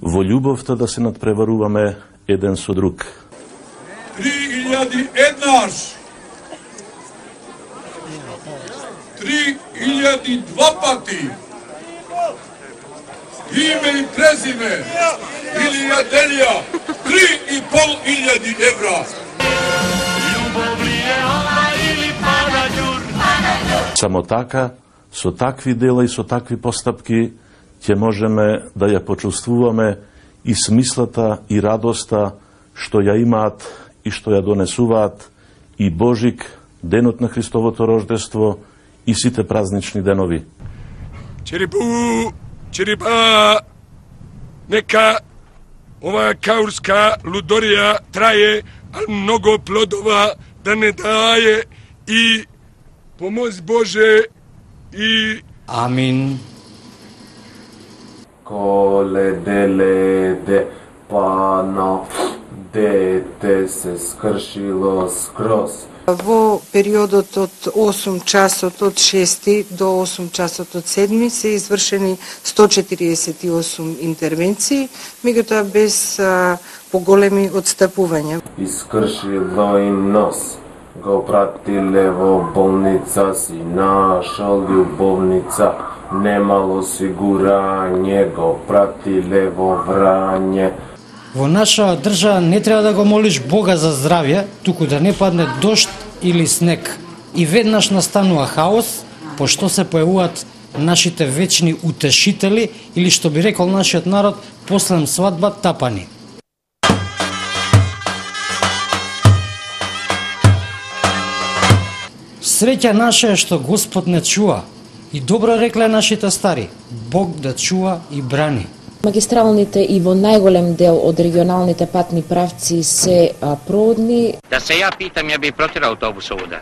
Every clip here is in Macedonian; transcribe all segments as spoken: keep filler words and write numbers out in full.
Во љубовта да се надпреваруваме еден со друг. Три илјади еднаш. Три илјади два пати. Име и презиме. Илија Делија. Три и пол илјади евра. Само така, со такви дела и со такви постапки, ќе можеме да ја почувствуваме и смислата и радоста што ја имаат и што ја донесуваат и Божик, денот на Христовото рождество и сите празнични денови. Черипу, черипа, нека оваа каурска лудорија трае, а многу плодова да не дае и помоз Боже и... Амин. Коледе леде, пано, дете се скршило скроз. Во периодот од осум часот од шести до осум часот од седми се извршени сто четириесет и осум интервенции, меѓутоа без а, поголеми одстапувања. Искршило им нос, го пратиле во болница, си нашол љубовница, немало осигурање, го пратиле во Врање. Во наша држава не треба да го молиш Бога за здравје, туку да не падне дожд или снег. И веднаш настанува хаос, пошто се појавуваат нашите вечни утешители или, што би рекол нашиот народ, послем свадба тапани. Среќа наша е што Господ не чува. И добро рекле нашите стари, Бог да чува и брани. Магистралните и во најголем дел од регионалните патни правци се а, проводни. Да се ја питам, ја би протирал автобус овуда.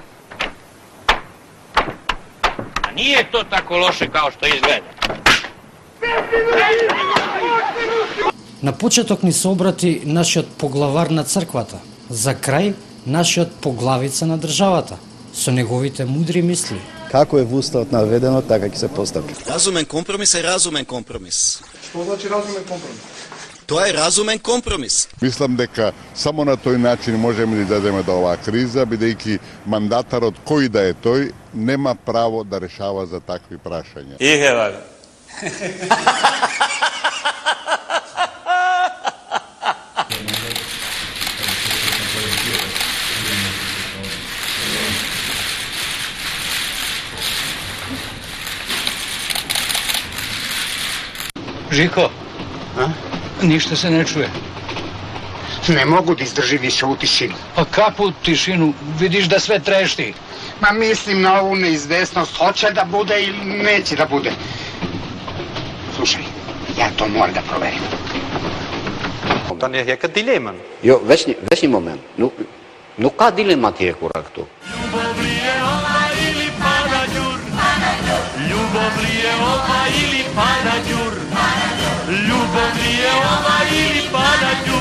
А nije to tako loše kao što izgleda. На почеток ни се обрати нашиот поглавар на црквата, за крај нашиот поглавица на државата, со неговите мудри мисли. Како е во уставот наведено, така ќе се постапи. Разумен компромис е разумен компромис. Што значи разумен компромис? Тоа е разумен компромис. Мислам дека само на тој начин можеме да излеземе до оваа криза, бидејќи мандатарот кој да е тој нема право да решава за такви прашања. Игева. Жико, а? Ништо се не чуе. Не могу да издржи више у тишину. А какvu тишину? Видиш да све трешти. Ма мислим на ову неизвестност, hoće да буде или неće да bude. Слушај, ја то мора да проверим. Dan je jaka dilema. Jo, вечни, вечни момент. Ну, ну ка дилема ти е корак tu? Ljubov li je ova ili panađur? Ljubov li je ova ili panađur? Ljubov li je ova ili panađur?